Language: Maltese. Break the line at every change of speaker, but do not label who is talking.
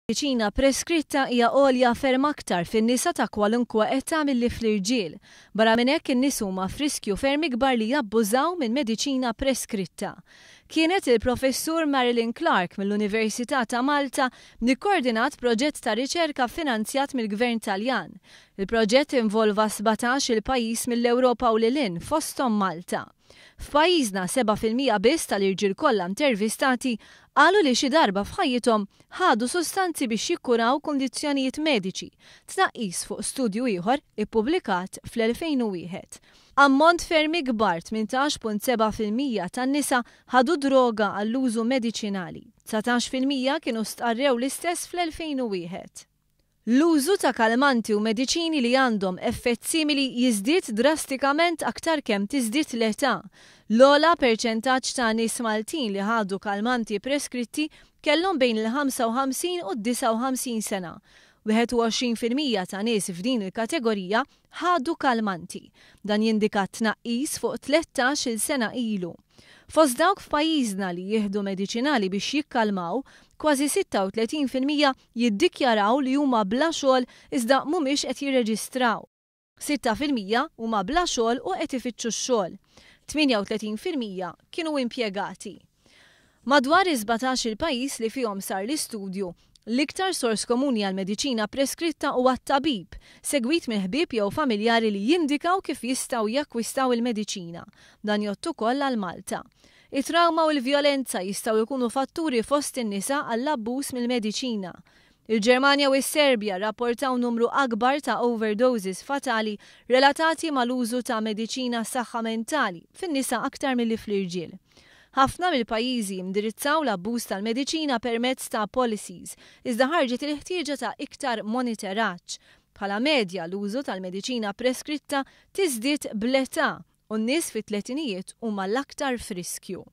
Mediċina preskritta hija għolja ferm aktar fin-nisa ta' kwalunkwe età milli fl-irġiel. Barra minn hekk in-nies huma f'riskju ferm ikbar li jabbużaw minn mediċina preskritta. Kienet il-Professur Marilyn Clark mill-Università ta' Malta li kkoordinat proġett ta' riċerka finanzjat mill-Gvern Taljan. Il-proġett involva 17-il pajjiż mill-Ewropa u lil hinn, fosthom Malta. F'pajjiżna 7% biss tal-irġiel kollha intervistati qalu li xi darba f'ħajjithom ħadu sustanzi biex jikkuraw kundizzjonijiet mediċi, tnaqqis fuq studju ieħor ippubblikat fl-2001. Ammont ferm ikbar, 18.7% tan-nisa ħadu droga għall-użu mediċinali. 19% kienu stqarrew l-istess fl-2001. L-użu ta' kalmanti u mediċini li għandhom effett simili jiżdied drastikament aktar kemm tiżdied l-età. L-ogħla perċentaġġ ta' nies Maltin li ħadu kalmanti preskritti kellhom bejn il-55 u d-59 sena. 21% ta' nies f'din il-kategorija ħadu kalmanti. Dan jindika tnaqqis fuq 13-il sena ilu. Fost dawk f'pajjiżna li jieħdu mediċinali biex jikkalmaw, kważi 36% jiddikjaraw li huma bla xogħol iżda mhumiex qed jirreġistraw. 6% huma bla xogħol u qed ifittxu x-xogħol. 38% kienu impjegati. Madwar is-17-il pajjiż li fihom sar l-istudju, l-iktar sors komuni għal mediċina preskritta huwa t-tabib, segwit minn ħbieb jew familjari li jindikaw kif jistgħu jakkwistaw il-mediċina. Dan jgħodd ukoll għal Malta. It-trawma u l-vjolenza jistgħu jkunu fatturi fost in-nisa għall-abbuż mill-mediċina. Il-Ġermanja u s-Serbja rapportaw numru akbar ta' overdoses fatali relatati mal-użu ta' mediċina saħħa mentali fin-nisa aktar milli fl-irġiel. Ħafna mill-pajjiżi indirizzaw l-abbuż tal-mediċina permezz ta' policies, iżda ħarġet il-ħtieġa ta' iktar monitoraġġ. Bħala medja l-użu tal-mediċina preskritta tiżdied bl-età u n-nies fit-tletinijiet huma l-aktar f'riskju.